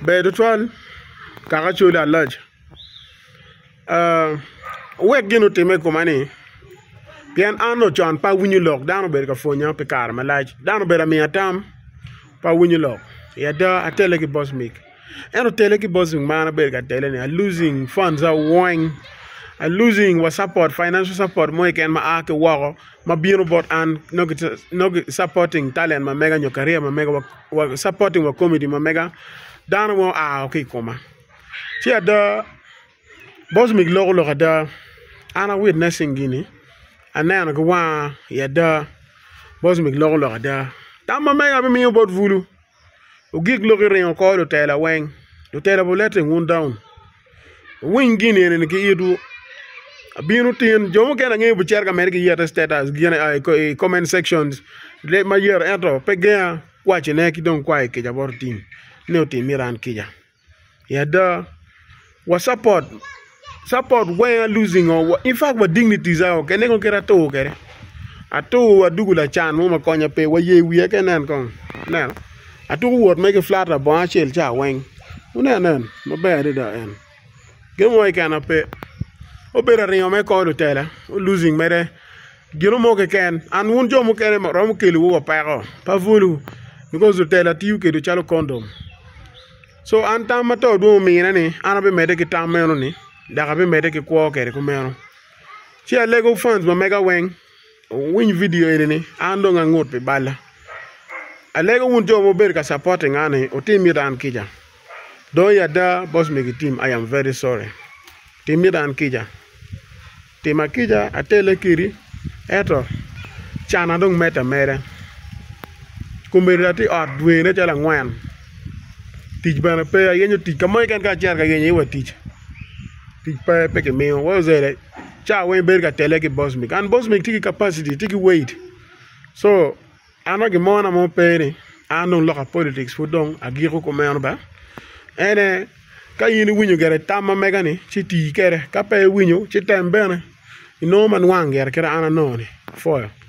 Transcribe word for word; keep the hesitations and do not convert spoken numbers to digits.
Ber tutwal kaka Acholi alac wek gin otimme i koma ni pien an onongo con pe awinyo lok dano obedo ka pwonya pi kare malac dano obedo ka miya tam pe awinyo lok i ada atelle ki Bosmic ento tele ki Bosmic ma an abedo ka tele-ni a losing funds weng a losing wa support financial support mo keken ma a ki woko ma bino bot an nongo supporting talent ma mega nyo career ma mega supporting wa comedy ma mega dano mo oa ki i koma ci ada Bosmic loko lok ada an a witnessing gini aneno ki wanga i ada Bosmic loko lok ada tam ma mega abimiyo bot bulu ogik lok iringo kor lutela weng lutela be letting wun down wuwiny gini eni ki itwu abino tin jo mukene angeyo bicito ka mere ki yete status i comment sections ma yero ento pe genga wacone ki dong kwayo kica bot otim ni otim myero an kica i ada wa support support weng a losing in fact wa dignities kene kong kit atur kwede atur adugo lacan mo ma konya pe wa yer wiya keken nen kong ineno atuko wot mere ki flat labongo acel ca weng wunen nen maber adada en gin mo keken pe obedo aringo me kor lutela losing mere gino mo keken an wun jo mukene romo kelowu wa peko pe bulu because lutela tiyo kwedwu calo kondom so an tam ma to dwong omine ni an abimedde ki tam meno ni dok abimedde ki kwo kwede kumeno ci alego fans ma mega weng wuwiny video eni ni an dong angut pi balla alego wun jo ma wubedo ka supporting an ni wutim myero an kica dong i ada Bosmic team I am very sorry tim myero an kica tima kica atele kedi ento cana dong medde ameda kombeddi atye i ot dwene calo angwen tic bene pe ayenyo tic ka mo keken ka acito ka yenyo iye wa tic tic pe pe kimiyo wa ca weng ibedo ka tele ki Bosmic and Bosmic tye ki capacity tye ki weight so an ma gimona mo pe ni an dong loka politics pud dong agiko kumeno ba ene ka in iwinyo gire tam ma mega ni ci tii kwede ka pe iwinyo ci tem bene inongo ma nwang gire kit an anongo ni apwoyo.